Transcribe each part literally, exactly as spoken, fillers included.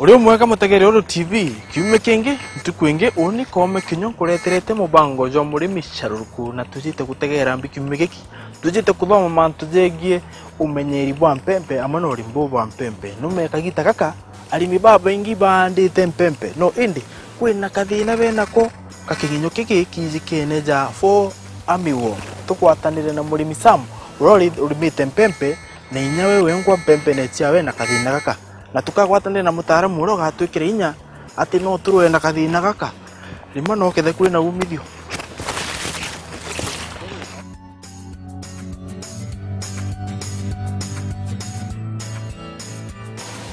Uri umwega mutegeri Uru T V, kiumia kingi, ntuku ingi, uni Koome Kinyua nkureterete mubango jwa murimi caruruku, na tujite gutegera mbi kiumia giki, tujite kuthoma mantu jegie umenyeri bwa mpempe amwe na urimi buu bwa mpempe. Nume kagita gaka, arimi babaingi baandite mpempe, no indi kwina kathina benako ga kiginyo kigi kijikene ja Fall Army Worm. Tugwatanire na murimi Sam, uria uri-, urimite mpempe, na inya we wengwa mpempene ciawe na kathina gaka. Na tukagwatanire na mutaaramu uria ugatwikira inya ati no turwe na kathina gaka, rima no kethe kwina umithio.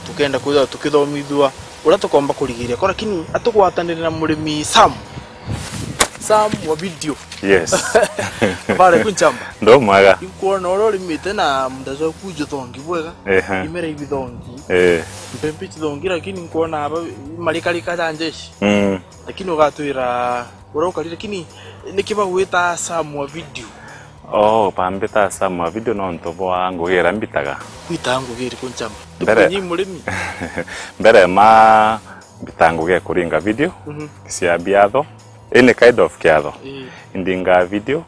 Tukenda kwithirwa tukithomithua uria tukomba kurigiria ko, lakini atugwatanire na murimi Sam. Sam wa video. Yes. Habari ku nchamba? Ndo mwega. Inkwona uria urimite na munda jwaku juthongi bwega. Ehe. Imera ibithongi. Eh. Mpempe chithongi, lakini nkwona aba marikarika ja njeshi. Mm. Lakini ugatwira uria ukari, lakini niki bagwita Sam wa video? Oh, bambita Sam wa video nontu bwa ngugi iria mbitaga. Witaga ngugi iriku nchamba? Mbere, tukunyi murimi. Mbere ma mbitaga ngugi ya kuringa video, mhm, cia biatho, any kind of kiatho. Ii. Indinga video,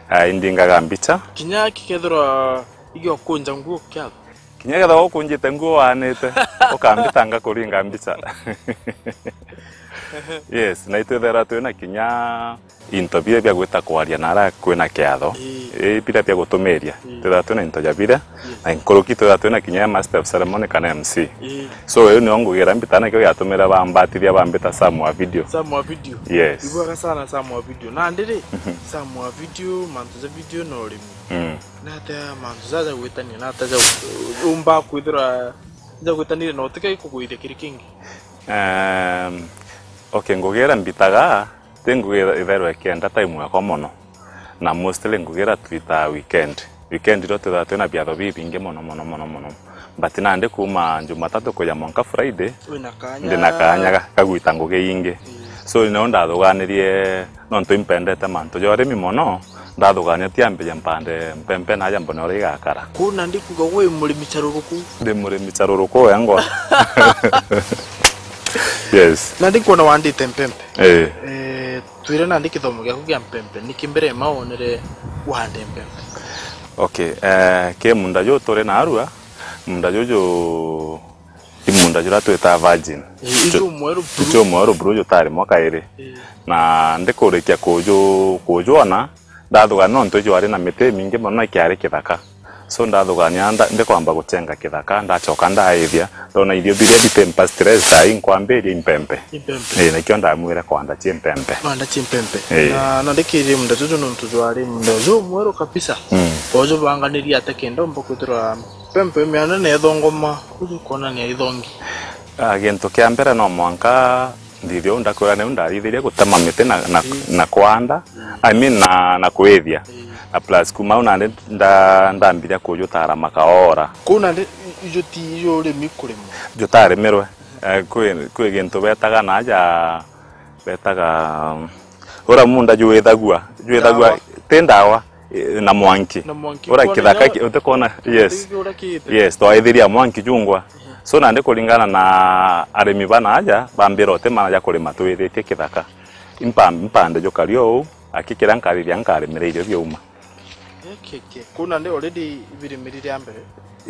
ah, indingaga mbicha. Kinya kikethirwa igiokunja nguo kiatho? Kinya kethirwa ukunjite nguo wanite, ukambitanga kuringa mbicha. Yes, na itwithera twina kinya into biria bia gwita kwaria na aria kwina kiatho. Ii. Ii, biria bia gutumiria. Ii. Twithira twina into ja biria, yes, na nkuruki twithira twina kinya ya master of ceremony kana M C. Ii. So, iu nio ngugira mbita, na kio giatumire bambatithia bambita Sam wa video. Sam wa video. Yes. Ibwega sana Sam wa video. Nandi ri, mhm, Sam wa video, mantu ja video na urimi. Mm. Nate mantu jaja gwitania, nate ja umba kwithira ja gwitanire na utike kugwithia kiri kingi? Ehm, okay, ngugira mbitaga, ti ngugi itherwa ikienda time yakwa mono. Na mostly ngugi iria twitaga weekend. Weekend irio twithaga twina biatho bibingi mono, mono, mono, mono. But nandi kuuma Jumatatu kuja mwanka Friday, wina kanya, ndi na kanya ga, ga gwita ngugi ingi. Ii. So, nio ndathuganirie, nontu impendete mantu ja urimi mono, ndathugania tiambije mpande mpempe naja mbone uria igakara. Kuu nandi kuuga wi murimi caruruku? Ndi murimi caruruku wengwa. Yes. Nandi nkwona wandite mpempe. Eh. Eh, twire nandi kithomo giaku gia mpempe, niki mbere ma wonere wande mpempe? Okay, eh, ki munda juu turi narua, munda juju i munda juria twitaga virgin. Eh, ijo mweru buru. Ijo mweru buru jutari mwaka iri. Eh. Na ndikurikia kuju-, kujwona, ndathugania nontu ijwari na miti imingi mono na ikiari kithaka. So, ndathugania nda-, ndikwamba guchenga kithaka, ndachoka ndaithia, ndona irio biria bitimpa stress, tai nkwambiria impempe. Impempe. Ii, nikio ndamwire kwanda cia impempe. Kwanda cia impempe. Ii. Na, na ndikirie munda juju nontu jwari munda jumweru kabisa. Mm. Ujubanganirie ate kenda umba kwithirwa mpempe miana nethongoma, uju kwonania ithongi? Ah, gintu kia mbere no mwanka nthithie uu ndakwira niu ndarithirie gutema miti na, na, ii, na kwanda, mm, I mean na, na kwithia. Ii. Na plus kuma au nandi nda-, ndambiria kujutara makaora. Kuu nandi i-, ijo ti ijo urimi kurima? Jutarimirwe. Eh, kwi, kwi gintu betaga naja, betaga, um, ura munda jwithagua, jwithagua, ndawa, ti ndawa, eh, na mwanki. Na mwanki. Ura kithaka ki-, utikona, yes. Yes, twaithiria mwanki jungwa. So, nandi kuringana na arimi bana aja, bambira uti mana ja kurima twithitie kithaka. Impa-, mpande jukari uu, aki kiria nkarithia nkarimira irio biauma. Eke, eke. Kuu nandi already ibirimirire a mbere?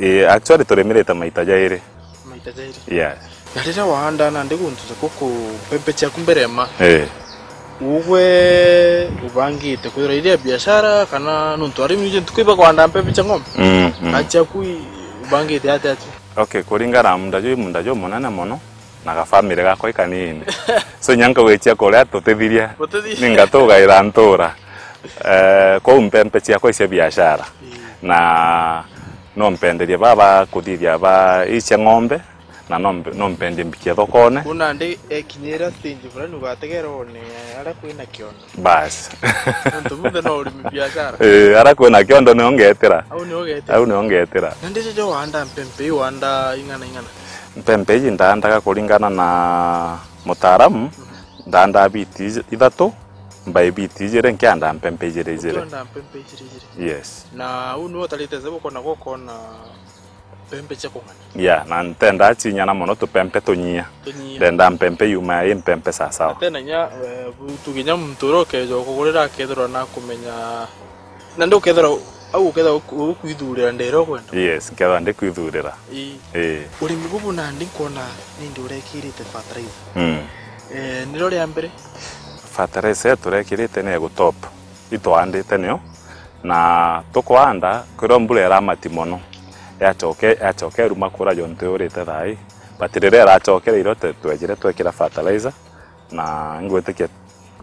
Eh, actually turimirite maita jairi. Maita jairi? Yes. Na riria waanda nandi guntu jaku ku mpempe ciaku mbere ma? Eh. Ugwe ubangite kwithira iria biashara kana nontu arimi ntuku iba kwanda mpempe cia ng'ombe? Mm, mm. Na ciaku i-, ubangite atia acio? Okay, kuringana na munda juu, munda juu munene mono, na ga family gakwa i kanini. So, inya nkauga icia kuria tutithiria. Tutithiria. Ningatugaira ntura. Eh, kwou mpempe ciakwa icia biashara. Ii. Na no mpenderie baba kuthithia ba icia ng'ombe, na no mpe-, no mpendie mbikie thokone. Kuu nandi ekinyira stage fulani ugategera one aria kwina kiondo. Bas. Nontu munthe no urimi biashara. Eh, aria kwina kiondo nio ngetira. Au nio ugetira. Au nio ngetira. Na ndijo jo wanda mpempe, wanda ing'ana ing'ana? Mpempe iji ndaandaga kuringana na mutaaramu, mhm, ndaandaa biti ij-, ithatu, mbai biti ijiri, nkiandaa mpempe ijiri ijiri. Ukiandaa mpempe ijiri ijiri. Yes. Na uu niwe utarite zebu kona gukona Mpempe cia kung'ana. Yeah, na ntenda cinyana mono tupempe tunyia. Tunyia. Ndenda mpempe yuma i mpempe sawasawa. Tena nya, eh, bu-, tuge nya muntu uria ukeja kugurira akethirwa nakumenya, na ndi ukethirwa au ukethirwa uku-, ukwithurira ndira ukwenda. Yes, nkethirwa ndikwithurira. Ii. Ii. Urimi bubu nandi nkwona nindi urekirite fertilizer. Mm. Eh, niro ria mbere? Fertilizer turekirite ni ya gutop. Itwaandite niyo, na tukwanda, kwithirwa mbura iramati mono, yacoke, yacoke iruma kura jontu yurite thaa ii. But riria iracokere irio, twe-, twejire twekira fertilizer, na ngwitikia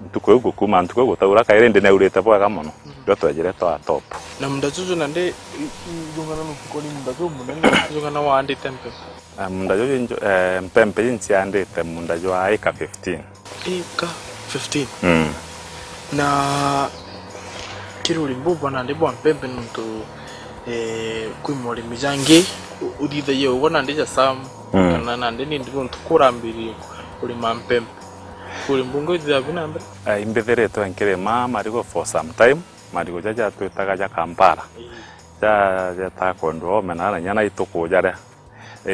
ntuku iu gukuma, ntuku iu gutaura kairi, indi neurite bwega mono, rio twejire twa top. Na munda juju nandi, i-, i-, jungana nukuko ni munda jumunene, jungana waandite mpe? Eh, munda juju nju-, eh, mpempe iu nciandite munda jwa acre fifteen. Acre fifteen. Mm. Na kiri urimi bubu nandi bwa mpempe nontu, eh, kwi morimi jangi u-, uthithagia ugo nandi ja Sam, mm, kana nandi nindi nontu kurambiririe kurima mpempe. Kuri mbunge uthithagia bi na mbere? Eh, imbithiritwe nkirima marigo for some time, marigo jaja twitaga ja Kampala. Ii. Ja, jetaga kwendwa omena na nyana ituku jaria.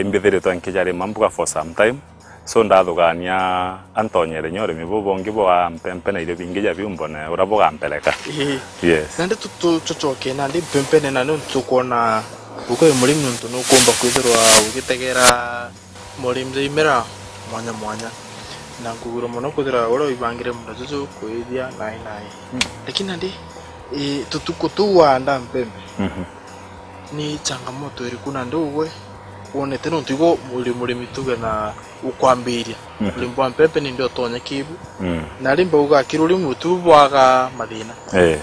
Imbithiritwe nkijarima mbuga for some time. So, ndathugania antonyere nya urimi buu bungi bwa mpempe na irio bingi ja biu mbone uria bugampeleka. Ii. Yes. Nandi tu-, tu-, tucoke nandi mpempene, na niuntu tukwona uko wi murimi niuntu nukumba kwithirwa ugitegera morimi ja imera mwanya mwanya, na nkugwirwa mono kwithirwa uria wibangire munda juju kwithia nai nai. Mm. Lakini nandi, ii, tutuku tuu waanda mpempe, mhm, ni changamoto iriku nandi ugwe wonete, nontu igwe uri murimi tuge na ukwambiria, mhm, urimi bwa mpempe nindi utonya kibu? Mm. Na rimba uga kiri urimi utu bwaga mathina. Eh.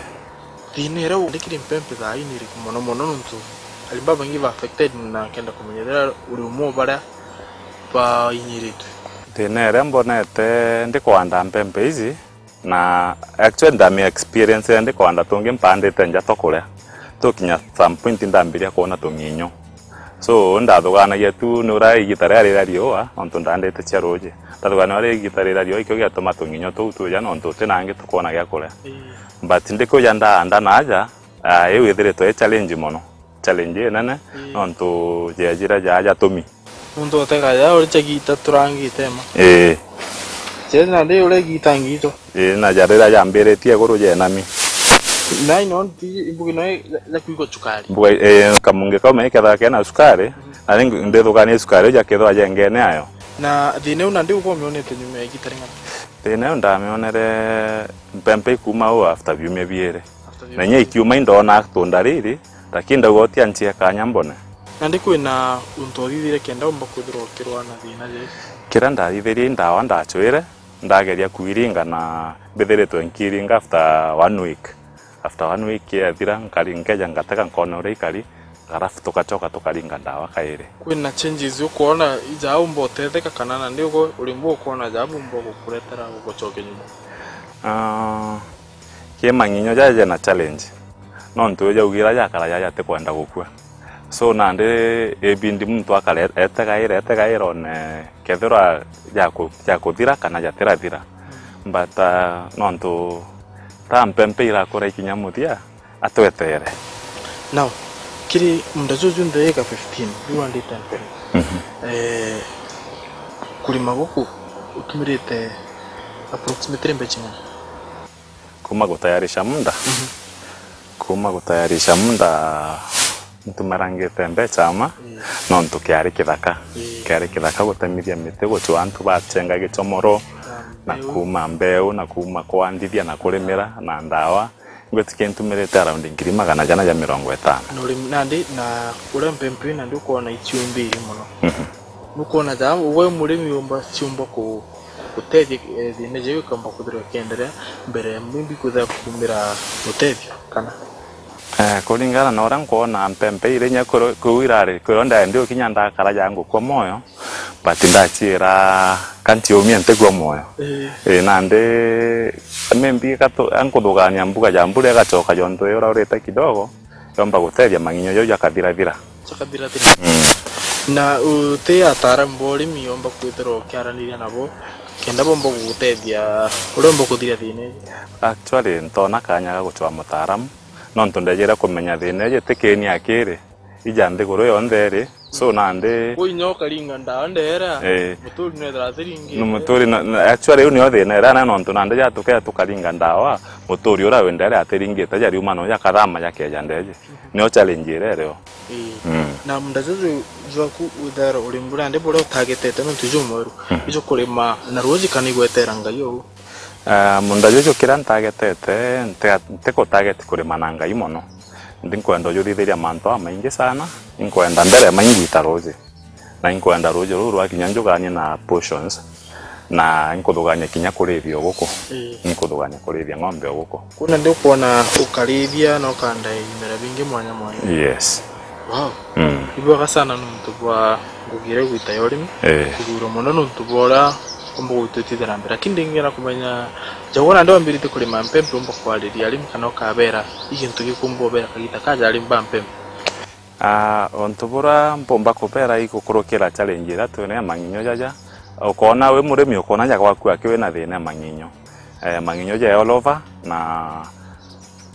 Thina iria uandikire mpempe thaa ii ni iriku mono mono, nontu arimi babaingi ba affected na nkenda kumenya ethira uri umwe o baria bainyiritwe? Thina iria mbonete ndikwanda mpempe ici, na actually ndami experience ndikwanda tungi mpandite nja twa kuria. Tukinya some point ndambiria kwona tung'inyo. So, ndathuganagia tu ni uria igita riria rira riua, nontu ndandite cia ruuji. Ndathuganagia uria igita rira riua, ikio giatuma tung'inyo tuu tuja, nontu uti nangi tukwona gia kuria. Ii. But ndikuja ndaanda naaja, ah, iu ithiritwe i challenge mono. Challenge inene, ii, nontu jejire jaa jatumi. Muntu utega ja uri cha gita turangite ma. Ii. Jeri nandi uri gita ngito. Ii, na ja riria jambiritie iguru jenami. Nai no nti imbugi no ya, ya kuigwa cukari. Mbuga, ii, kamungi kau me kethaga kena cukari, mhm, na ringi ndithugania cukari uja kethwa jengene ayo. Na thina iu nandi uko mionete nyuma ya igita ring'ana? Thina iu ndamionere mpempe ikuma u after biumia biiri. After biumia biiri. Na inya ikiuma indona tunda riri, lakini ndauga utia nchie kanya mbone. Nandi kwina untu uthithire kenda umba kwithirwa ukirwa na thina jai? Kiria ndathithirie i ndawa ndachwire, ndageria kwiringa na mbithiritwe nkiringa after one week. After one week yathira, nkari-, nkeja ngatega nkona uria ikari, alafu tugacoka tukaringa ndawa kairi. Kwina changes ukwona ija umba utetheka kana nandi ugo urimi ukwona ja umba gukuretera ugucokia nyuma? Ah, ki mang'inyo jaja jena challenge. Nontu jaugira jakara jaja jatikwenda gukua. So, nandi ibindi muntu akare etegaira, etegaira one kethirwa jaku-, jakuthira kana jatirathira. But, ah, nontu ta mpempe irakura ikinya muthia, atwetere. Now, kiri munda juju nthi ika fifteen, riu andite mpempe. Mhm. Eh, kurima guku utumirite approximately mbeca ing'ana? Kuma gutayarisha munda? Mhm. Kuma gutayarisha munda, ntumarangite mbeca ama, mm, nontu kiari kithaka. Mm. Kiari kithaka gutemithia miti, gucua antu bachenga gicomoro, na mbeu, na kuma mbeu, na kuma kwandithia na kurimira na ndawa. Ngwitikia ntumirite around ngiri magana jana ja mirongo itano. Na urimi nandi, na uria mpempe nandi ukwona iciumbiri mono. Mhm. Nukwona ja ugwe murimi umba ciumba ku-, gutethia, eh, thina jau ikamba kwithirwa ikienderea mbere, maybe kwithira kumira utethio kana? Eh, kuringana na uria nkwona mpempe iri inya kuru-, kuu irari, kwirwa ndaendi ukinya ndakara ja ngukua moyo, but ndachiira kantiumia ntigua moyo. Ii. Ii, nandi maybe gatu-, ankuthugania mbuga ja mbura igacoka jontu uria urite kidogo, yomba gutethia mang'inyo jau jakathirathira. Jakathirathira. Mm. Na uti ataaramu ba urimi yomba kwithirwa ukiaraniria nabo, kenda bomba gugutethia uria umba kuthiria thina iji? Actually, ntona kanya ga gucwa mutaaramu, nontu ndejire kumenya thina iji ti kiini akiri, ija nthiguru yonthe iri, So nandi Kwi inya ukaringa ndawa ndera, eh, muturi nethira atiringite. Ni muturi na, na, actually, riu nio thina iria na nontu nandi ja tuke tukaringa ndawa, muturi uria wendere atiringite, ja riuma no jakathama jakeja ndeje. Nio challenge iria irio. Ii. Mm. Na munda juju jwaku withera uri mbura ndi buria utagetete nontu jumweru. Mm. Ijo kurima na ruuji kana igwetera Ngai ou? Ah, munda juju kiria ntagetete, ntiga-, ntikutageti kurima na Ngai mono. Ndi nkwenda ujuthithiria mantu amaingi sana, inkwenda mbere ya maingwita ruuji. Na inkwenda ruuji ruu rwakinya njuganie na portions, na inkuthugania kinya kurithia o guku. Ii. Inkuthugania kurithia ng'ombe o guku. Kuna ndi ukwona ukarithia na ukandae bimera bingi mwanya mwanya. Yes. Wow. Mm. Ibwega sana nontu bwa ngugi iria igwita ya urimi. Ii. Kuthurwa mono nontu bwa uria umba gwitwitithira mbere. Lakini ndingienda kumenya, jagwa nandi wambiritie kurima mpempe umba kwariria arimi kana ukabera i gintu gikumba ubera kagita kaja arimi ba mpempe? Ah, untu buria mpumba kubera igukurukira challenge iria twina ya mang'inyo jaja, ukoona wi murimi, ukoona ja gwaku aki wina thina ya mang'inyo. Eh, mang'inyo ja all over, na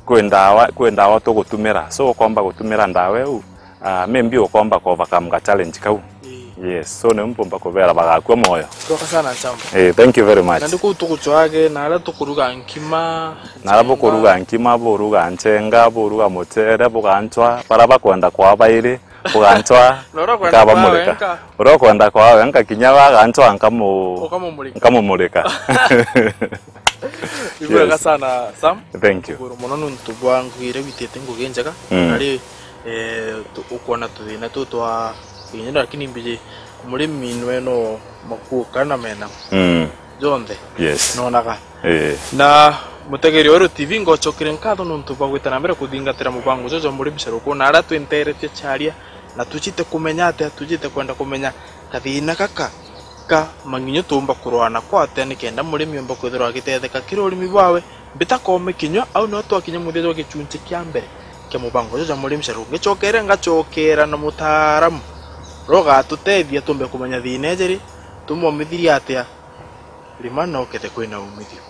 kwi ndawa, kwi ndawa tugutumira. So, ukomba gutumira ndawa iu, ah, maybe ukomba ku overcome ga challenge kau. Ii. Yes, so niu mpumba kubera bagakua moyo. Ibwega sana Nchamba. Eh, thank you very much. Nandi kuu tugucwage, na aria tukuruga nkima, Nara njenga. Bukuruga nkima, buruga nchenga, buruga muchere, bugancwa, bara bakwenda kwaa bairi, bugancwa, Nora kwenda kwaa nkabamurika. Wenka. Uria ukwenda kwaa wenka, kinya we agancwa, nkamu-, Ukamumurika. Nkamumurika. Ibwega Yes. sana, Sam. Thank you. Shukuru mono nontu bwa ngugi iria witite ngugi njega. Mm. Ari, eh, tu-, ukwona tuthina tu twa kinyendo, lakini mbiji murimi nwe no makuo kana mena. Mm. Jonthe. Yes. Nonaga. Eh. Na mutegeri wa Weru T V, ngocokere nkatho nontu bwa gwita na mbere kuthingatira mubango juju jwa murimi caruku, na aria twinteretie charia, na tucite kumenya atia, tucite kwenda kumenya kathina gaka ka mang'inyo tuumba kurwana ko atia nikenda murimi omba kwithirwa agitetheka kiri urimi bwawe. Mbita kome kinywa, au nio twakinya muthia jwa gichunchi kia mbere kia mubango juju jwa murimi caruku. Ngicokere ngacokera na mutaaramu uria ugatutethia tuumbe kumenya thina iji ri, tumomithirie atia. Rima na ukethe kwina umithio.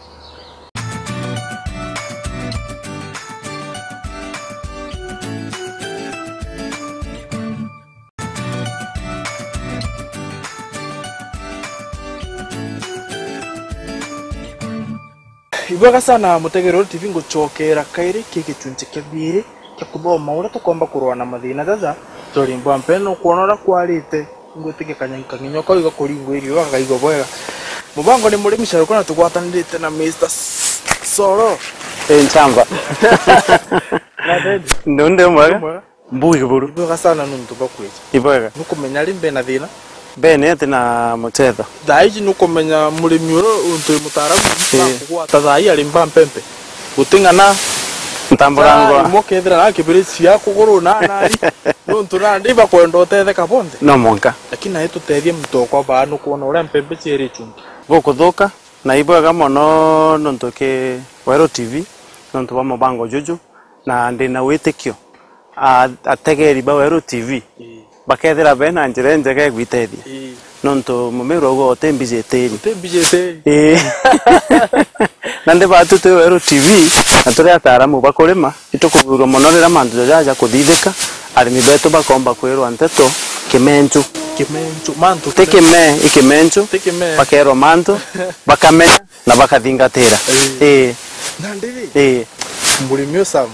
Ibwega sana mutegeri wa Weru T V, ngucokera kairi ki gichunchi kia biiri kia kuthoma uria tukomba kurwana na mathina jaja jori mbwa mpene. Nukwona uria kwarite. Ngwitikia kanya-, kang'inyo kau igakuringwa irio gakaigua bwega. Mubango ni murimi caruku na tugwatanirite na Mister S-, Soro. Eh, Nchamba. Ndu ndi mwega? Mwega. Mbugi buru. Ibwega sana nontu bwa kwija. Ibwega. Nukumenya ri mbena thina? Mbene ati na muchetho. Thaa iji nukumenya murimi uru untu wi mutaaramu, Eh. Nakugwata thaa ii ari mba mpempe. Guti ng'ana. Ntambura ngwa. Imwe kethira na kibiriti cia kuguru na nari. Nontu nandi ibakwenda utetheka bonthe. No mwanka. Lakini nae tutethie muntu okwa baa nukwona uria mpempe cieri chuntu. Gukuthuka, na ibwega mono nontu ki Weru T V, nontu bwa mubango juju, na ndi na witikio, a-, ategeri ba Weru T V, Ii. Bakethira bena njira injega igwitethia. Ii. Nontu mumiru auga uti mbiji itiri. Uti mbiji itiri. Ii. Na ndi batu twi Weru T V, na turi ataaramu ba kurima, itukuthurwa mono riria mantu jaja jakuthithika, arimi betu bakomba kwirwa nteto kimenchu. Kimenchu, mantu ti kime, i kimenchu, ti kime. Bakerwa mantu, bakamenya, na bakathingatira. Ii. Ii. Na ndiri, Ii. Murimi u Sam,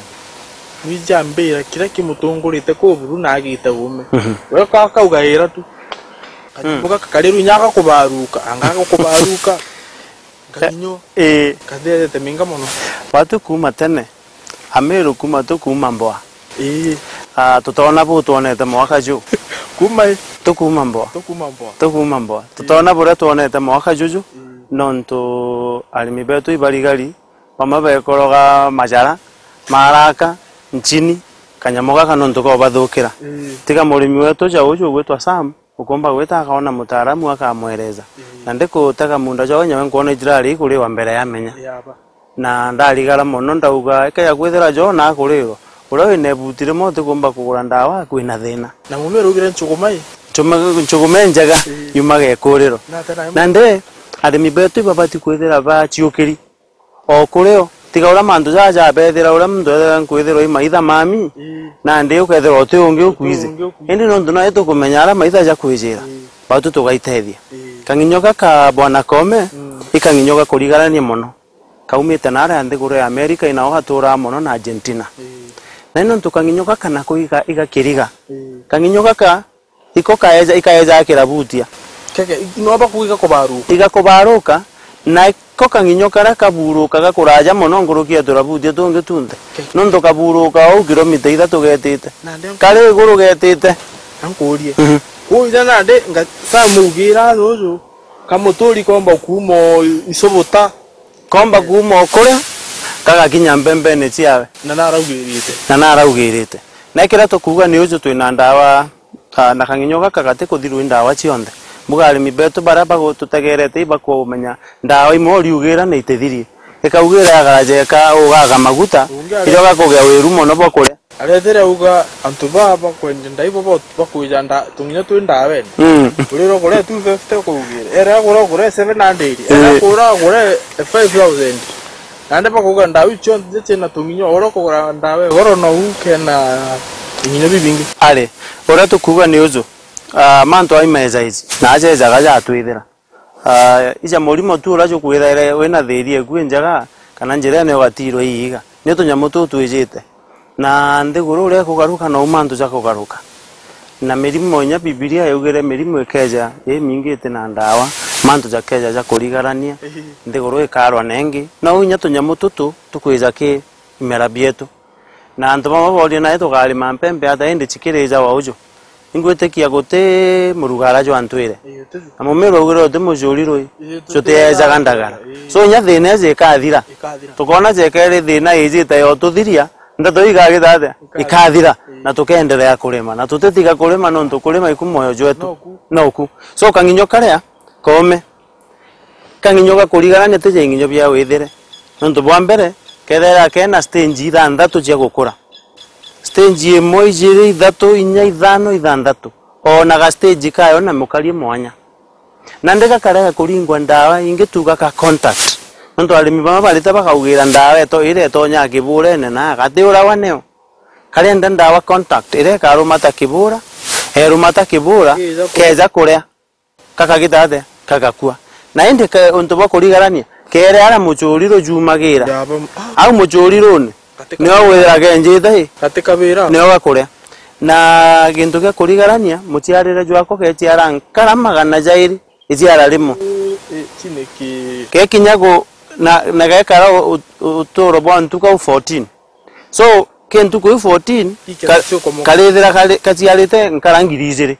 nwijambira kiria kimutungurite kuu buru na agite uume. Mhm. We ka-, kaugaira tu. Kanyambo gaka kari riu inya gakubaruka, anga gakubaruka. Nkaminyo. Ii. Kathethete minga mono. Batu kuuma tene, Amiru kuuma tu kuuma mboa. Ii. Ah, tutona bu twonete mwaka ju. Kuuma i? Tukuuma mboa. Tukuuma mboa. Tukuuma mboa. Ii. Tutona buria twonete mwaka juju, Ii. nontu arimi betu ibarigari, bamwe bekoroga majara, maraka, nchini, kanyamo gaka nontu kobathukira. Ii. Tiga murimi wetu ja uju ugwitwa Sam, ukomba gwita akaona mutaaramu akamwereza. Ii. Na ndikutega munda jwawe nyawe nkwona ijirari ikuriwa mbere ya menya. Yaba. Na ndarigara mono ndauga, ikeja kwithira jo na akurirwa, uria wina ibuti rimwe utikumba kugura ndawa kwina thina. Na mume uraugire nchuguma i? Nchuma-, nchuguma injega, Ii. yumaga ikuriro. Na tena Na ndi, arimi betu ibabati kwithira baciukiri. O kurio, Tiga uria mantu jaa jabethira, uria muntu ethira nkwithirwa i maitha mami, ii, nandi ukethirwa uti ungi ukwizi. Uti ungi ukwizi. Indi nontu nae tukumenya aria maitha jakwijira, ii, batu tugaitethia. Ii. Kang'inyo gaka bwana Kome, mm, i kang'inyo gakurigarania mono. Kaumite naaria nthiguru ya America, inao gaturaa mono na Argentina. Ii. Na nontu kang'inyo gaka nako iga-, igakiriga. Ii. Kang'inyo gaka iko kaeja, ikaeja akirabutia. Keke, no bakuga igakubaruka. Igakubaruka, na ko kang'inyo karia kaburukaga kuraja mono nkuruki ya turabutia tungi tunthe. Keke. Nontu kaburuka ou kilomita ithatu getite. Nandi kari iguru getite. Ankurie. Mhm. Kuu ina nandi nga-, samugira juju, kamuturi komba kuuma o Isubuta. Komba kuuma o kuria, gagakinya mpembene ciawe. Na naraugirite. Na naraugirite. Na kiria tukuuga ni uju, twina ndawa, ah, na kang'inyo gaka gatikuthirua i ndawa cionthe. Mbuga arimi betu baria bagututegerete ibakumenya ndawa imwe uriugira na itithirie. Ikaugira ya garaja ika ugaga maguta, ungi ari- irio gakugia wiru mono bwa kuria. Arethire auga, antu baa bakwendia ndai bo, bo, bakwija nda-, tung'inyo twi ndawene. Mm. Urira uguria two fifty ukuugire. Ere agura ugure seven hundred. Ere, eh, agura ugure five thousand. Nandi bakuuga ndawa iu cionthe ciina tung'inyo, uria ukugura ndawa igoro nou kena ing'inyo bibingi. Ari, uria tukuuga ni uju, ah, mantu ai mejaici, na ajejaga jatwithira. Ah, ija murimo tu uria jukwithaira wina thiri eku injega, kana njirene ugatirwa iiga. Ni tunyamu tuu twijite. Na nthiguru uria ikugaruka, nou mantu jakugaruka. Na mirimo, inya Bibilia yaugire mirimo ikeja imingi iti na ndawa, mantu jakeja jakurigarania, nthiguru ikarwa nengi. Nou inya tunyamu tutu tukwija ki imera bietu. Na antu bamwe booria, nae tukarima mpempe ata indi cikirijawa uju? Ingwitikia guti murugara jwa ntwire. Ii, uti- Na mumiru augire uti mucuri rui, ii, uti- jutiejaga ndagara. Ii. So, inya thina iji ikathira. Ikathira. Tukoona jekeri thina ijite yotuthiria, ndeto igagita atia? Ikathira. Ikathira. Ii. Na tukenderea kurima. Na tutitiga kurima nontu kurima iku mwoyo jwetu. Noku. Noku. So, kang'inyo karia koome. Kang'inyo ga kurigarania ti ja ing'inyo bia withire. Nontu bwa mbere, kethaira kena stage ithanthatu cia gukura. Stage imwe, ijiri, ithatu, inya, ithano, ithanthatu. Ona ga stage kayo na mukarie mwanya. Na ndi gakarega kuringwa ndawa ingi tu gaka contact. Nontu arimi bamwe barite bakaugira ndawa eto-, iria itonya kiburene na gati urawa neo. Karenda ndawa contact, iria ikarumata kibura, erumata kibura, keja kuria. Kakagita atia? Kagakua. Na indi ke-, untu bwa kurigarania, kere aria mucuri rujumagira. Ndaba-, ah. Au mucurirune, gati nio kabira. Withira genjite i? Gati kabira. Nio gakuria. Na gintu gia kurigarania, muciarire jwako geciara nkara magana jairi, iciara rimwe. Ii, ii, iki niki? Gekinya gu-, na, na gekara u-, u-, uturo bwa ntuku au fourteen. So, ki ntuku iu fourteen, ii, ka-, cio komoka. Karithira kari-, kaciarite nkara ngiri ijiri.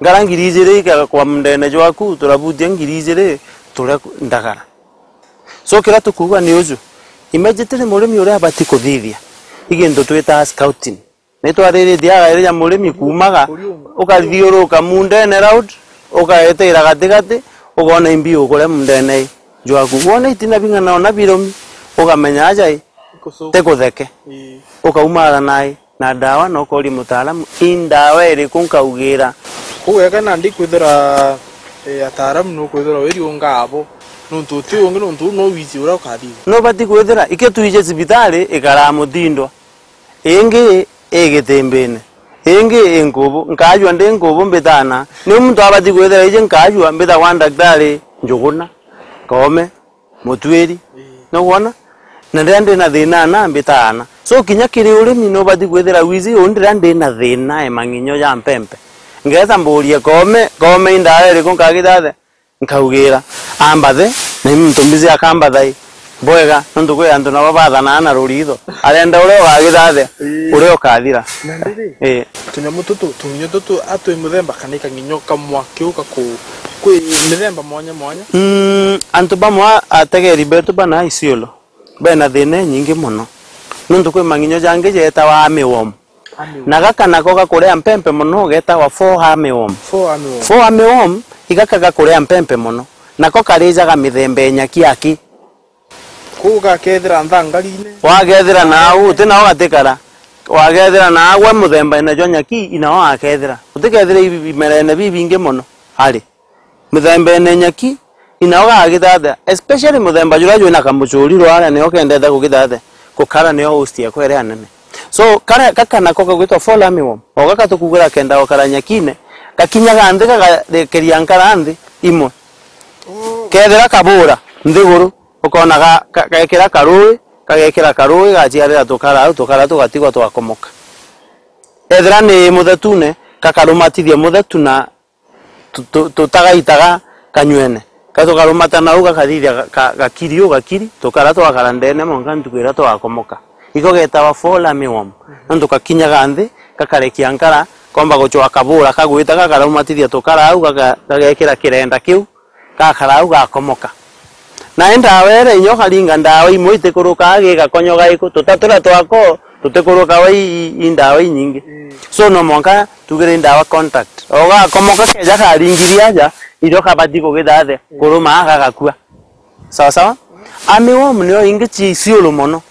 Nkara ngiri ijiri ikagakwa mundene jwaku, turabutia ngiri ijiri, turia ndagara. So, kiria tukuuga ni uju, immediately murimi uria abati kuthithia, i gintu twitaa scouting. Ni twariritie agairi ja murimi kuumaga, ukathiuruka mundene round, ukaeteera gatigati, ukoona imbi ukuria mundene jwaku. Wona itina bing'ana ona birumi, ukamenya aja i, tikutheke. Ii. Ukaumara nai. Na ndawa, na ukooria mutaaramu, "I ndawa iriku nkaugira?" Kuu wega nandi kwithira, eh, ataaramu nukwithira wiriunga abo, nontu uti ungi, nontu uu no wiiji uria ukathithia. Nubati kwithira, ikio twiji cibitari, ikaraa mutindwa, ingi i gitimbine, ingi i nkubu, nkaajua ndi nkubu mbitana. Niu muntu abati kwithira iji nkaajua mbitagwa ndaktari Njuguna, Koome, mutwiri. Ii. Nukwona? Na riria ndina thina ana, mbitaana. So, kinya kiri urimi, nubati kwithira wiji, uu ndiria ndina thina e mang'inyo ja mpempe. Ngeeta mburie Koome, Koome, i ndawa iriku nkagita atia? Nkaugira, ambathe, na i muntu mbizi akambatha i. Bwega, nontu kwi antu nabo bathanaa na ruritho. Arenda uria ugagita atia? Ii. Uria ukathira. Na ndiri? Ii. Tunyamu tutu, tung'inyo tutu, atwi muthemba kana i kang'inyo kamwe kiu gaku-, kwi mithemba mwanya mwanya? Mm, antu bamwe a-, ategeri betu bana Isiolo, bena thina inyingi mono. Nontu kwi mang'inyo jangi jeetawa armyworm. Armyworm. Na gaka nako gakuria mpempe mono, geetawa fall armyworm. Fall armyworm. Fall armyworm, igaka gakuria mpempe mono. Nako karijaga mithemba inya kiaki. Kuu gakethira nthangarine. Wagethira nau, uti nao gatikara. Wagethira nagwe muthembaine jwa nyaki, inao akethira. Utikethira ibi-, imerene bibingi mono. Ari. Muthembaine nyaki, Inao gagithathe, especially muthemba juria jwina kamuchuri rwara, nio kendete kugithathe, gukara nio host yakwa iria nene. So, kara, gaka nako kagwitwa fall armyworm. O gaka tukugira kenda gukara nyakine, gakinyaga nthi gagarekeria nkara nthi imwe. Kethira kabura nthiguru, ukona ga, ga, gekira karui, gagekira karui, gaciarira tukara au, tukara tugatigwa twakomoka. Ethira ni muthetune, gakarumatithia muthetu na tu-, tu-, tutagaitaga kanywene. Ka tukarumata nau gakathithia ga-, ga-, gakiri u gakiri, tukara twakara ndene mwanka ntuku iria twakomoka. Iko getawa fall armyworm. Nontu kakinyaga nthi, gakarekia nkara, komba gucwa kabura kagwita gakaraumatithia tukara au, gaka-, gagekira kirenda kiu, gakara au gakomoka. Na i ndawa iria inya ukaringa ndawa imwe itikurukaga gigakonyoga iku, tutatura twako tutikurukaga i, i, i ndawa inyingi. So no mwanka tugire i ndawa contact. Ogakomoka keja karingithia aja, irio kabati kugithathia, kuruma gagakua. Sawa sawa? Armyworm nio ingi ci ciuru mono.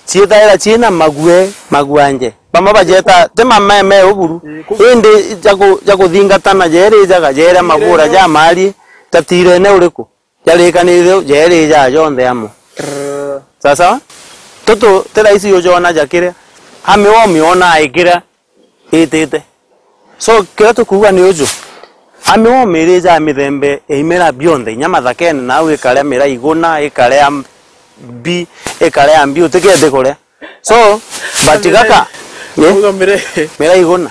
Ciithaira ciina mague, maguanje. Bamwe bajeeta, ti mameme uburu. Indi ja ku-, ja kuthingatana jeeri jaga jeera mabura ja mari, jatirene uriku? Jarikanire jeeri ja jonthe amwe. Sawa sawa? Tutu, ti raisi ujona ja kiria. Armyworm yona ikiria itite. So, kiria tukuuga ni uju. Armyworm iri ja mithemba ya imera bionthe, inya mathakene, nau ikaria mira iguna, ikaria mbi, ikaria mbi, utikete kuria. So, but gaka, eh? Uga mire. Mira iguna.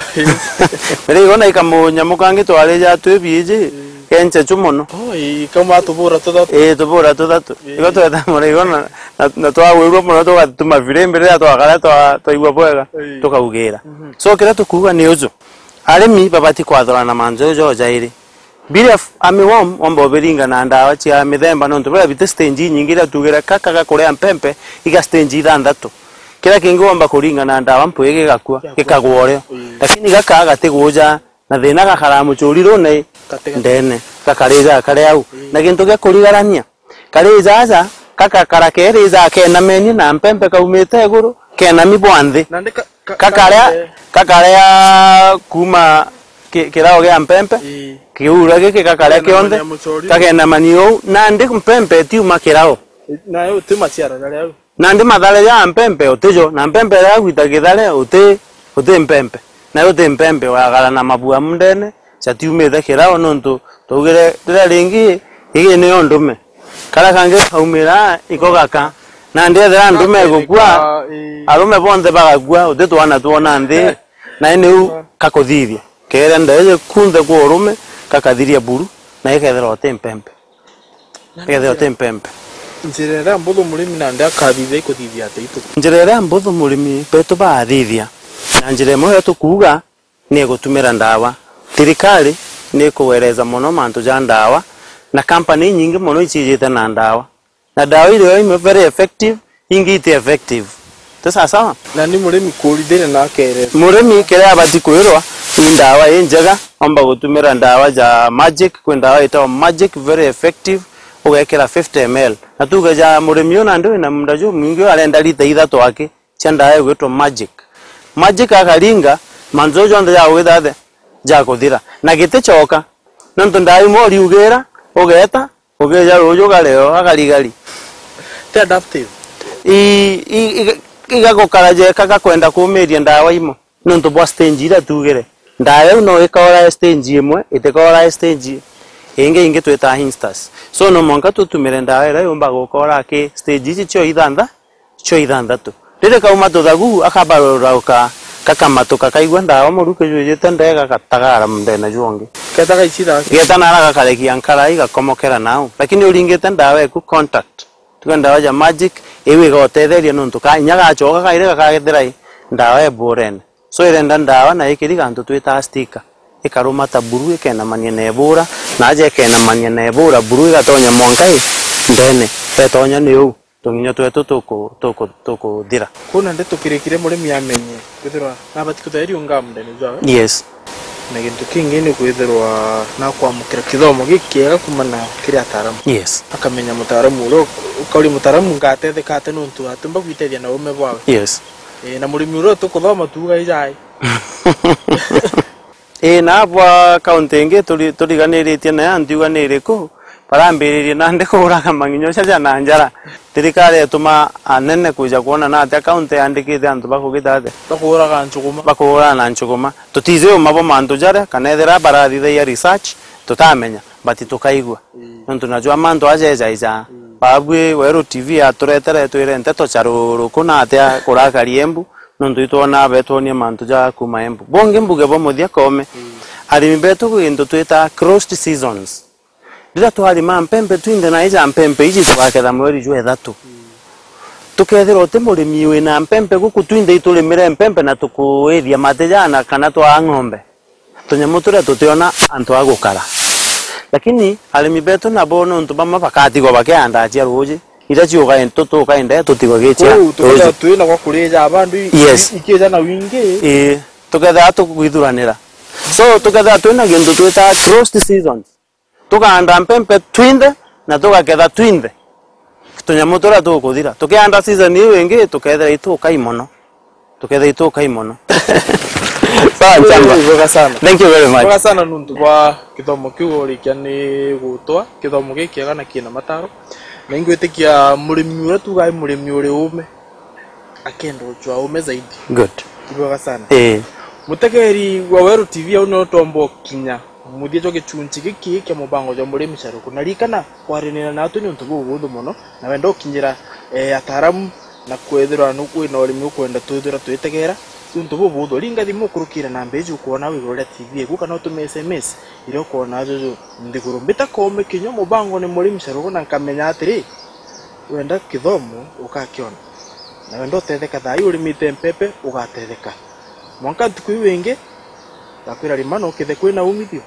Mira iguna ikamunyamu kangi twarija twi biiji, kenchechu mono. Oh, ii, kama tubura tuthatu. Ii, tubura tuthatu. Ii. Igo tweta mura iguna, na, na twagwirua mono tugatuma firimbi riria twakara twa-, twaigua bwega, ii, tukaugira. So, kiria tukuuga ni uju. Arimi babati kwathurana mantu jau jairi. Biria f-, armyworm, omba ubiringa na ndawa cia mithemba, nontu biria biti stage inyingi iria tugire kaka gakuria mpempe, iga stage ithanthatu. Kiria kingi womba kuringa na ndawa mpwi gigakua, gikagwa urio. Lakini gaka gatiguja na thina, gakaraa muchuri rune ndene, gakarija kari au. Na gintu gia kurigarania, kari jaja, gakakara keri ja kenamenie na mpempe kaumite iguru, kenami bwa nthi. Gakaria, gakaria kuuma ki-, kirao gia mpempe, kiura giki gakaria kionthe, kakenamania uu, nandi mpempe itiuma kirao. Nayo uti maciara jaria au. Nandi mathare ja mpempe utijo, na mpempe iria gwita kithare uti, uti mpempe. Nayo uti mpempe, wagara na mabua mundene, jatiumite kirao, nontu twaugire riria ringi, igi niyo ndume. Karia kangi kaumira iko gaka. Nandi ethira ndume igukua, arume bonthe bagakua, uti twana twona nthi, na niu kakuthithia. Keera ndeje kunthe kwa urume, kakathiria buru, na ikethira uti mpempe. Ikethira uti mpempe. Njira iria mbuthu murimi nandi akathithia ikuthithia atia itu? Njira iria mbuthu murimi betu baathithia, na njira imwe iria tukuuga, ni gutumira ndawa. Thirikari ni ikuwereza mono mantu ja ndawa, na company inyingi mono icijite na ndawa. Na ndawa irio imwe very effective, ingi iti effective. Ti sawa sawa? Na ni murimi kuurithire na akeerethwa. Murimi kiria abati kwirwa ni ndawa injega, omba gutumira ndawa ja Magic, kwi ndawa itagwa Magic, very effective, ugekira fifty M L. Na tuuge ja murimi uyu nandi wina munda jumwingi, uyu arenda lita ithatu aki cia ndawa igwitwa Magic. Magic akaringa, mantu jau jonthe ja gwithathe jakuthira. Na giticoka, nontu ndawa imwe uriugira, ugeeta, ukija ruuju ukareo, agarigari. Ti adaptive. I, i, iga-, igagukara jeka gakwenda kumiria ndawa imwe. Nontu bwa stage iria tuugire. Ndawa iu no ikaora stage imwe, itikaora stage ingi, ingi twitaga instars. So, no mwanka tutumire ndawa iria yumba gukora ki stage ici cio ithantha-, cio ithanthatu. Riri kauma tuthagu, akabarurauka, gakamatuka, kaigua ndawa muru kijwijite ndega, gagatagara mundene jwongi. Geta gaicira. Geta nara gakarekia nkarai, gakomokera nau. Lakini uringite ndawa eku contact. Tuge ndawa ja Magic, iu igagutetheria nontu ka inya gacoka kairi gakagethira i ndawa eburene. So irenda ndawa na ikiri gantu twitaga sticker. Ikarumata buru ikenamania na ebura, na aja ikenamania na ebura buru igatonya mwanka i ndene. Etonya ni uu, tunginya twetu tuku-, tuku-, tukuthira. Kwou nandi tukirikire murimi amenye kwithirwa nabati kutheria unga mundene jwawe. Yes. Na gintu kingi ni kwithirwa nakwamukira kithomo gikiega kumana kiri ataaramu. Yes. Akamenya mutaaramu uria uk-, ukauria mutaaramu ngatetheka atia nontu atumba gwitethia na ume bwawe. Yes. Ii, na murimi uria tukuthoma tuuga ijai. Ii, na bwa kaunti ingi turi-, turiganiritie nayo, ntiuga ni iriku, Barambiririe nandi kuuraga mang'inyo jaja na njara. Thirikari ituma anene kwija kwona na atia kaunti yandikite antu bakugita atia? Bakuuraga nchuguma. Bakuuraga na nchuguma. Tutiiji uma bo mantu jaria, kana ethira barathithagia research, tutamenya, but tukaigua. Ii. Nontu najua mantu aja ejaija. Ii. Babui Weru T V yaturetere twire nteto cia ruruku na atia kurakari Embu, nontu itwona betwonie mantu ja kuma Embu. Bongi mbuge bo muthia Koome, ii, arimi betu gwi gintu twita closed seasons. Riria twarima mpempe twinthe na ija mpempe iji tugaketha mweri jwa ithatu. Tukethirwa uti murimi wina mpempe guku twinthe iturimire mpempe na tukuithia mati jana kana twaa ng'ombe. Tunyamu turia tutiona antu a gukara. Lakini arimi betu nabo nontu bamwe bakatigwa bakiandaa cia ruuji, iria ciugae tutukaende tutigwa gicia. Kwou tukethirwa twina gwa kurija bandu i-, yes, i-, ikija na wingi. Ii, tukethirwa tukwithuranira. So, tukethirwa twina gintu twita closed seasons. Tukaanda mpempe twinthe na tugaketha twinthe. Tunyamu turia tukuthira. Tukianda season iu ingi, tukethira itukai mono. Tukethira itukai mono. Sawa, Nchamba. Ibwega sana. Thank you very much. Ibwega sana nuntu bwa kithomo kiu urikia ni gutwa. Kithomo gikiega na kina mataro. Na ingwitikia murimi uria tugae murimi uri ume. Akenda uchwa ume zaidi. Good. Ibwega sana. Eh. Mutegeri wa Weru T V au nio tomba ukinya muthia jwa gichunchi giki kia mubango jwa murimi caruku. Na ririkana kwaranira natwe ni untu bubuthu mono, na wenda ukinyira, eh, ataaramu na kwithirwa nu-, wina urimi ukwenda twithira twitegera, ni untu bubuthu. Ringa thimu ukurukire namba iji ukwona wigurire T V eku kana utume S M S iria ukwona juju nthiguru. Mbita Koome kinya mubango ni murimi caruku na nkamenya atiri, wenda kithomo ukakiona. Na wenda utetheka thaa ii urimite mpempe, ugatetheka. Mwanka ntuku iu ingi, ngakwira rima no kithe kwina umithio.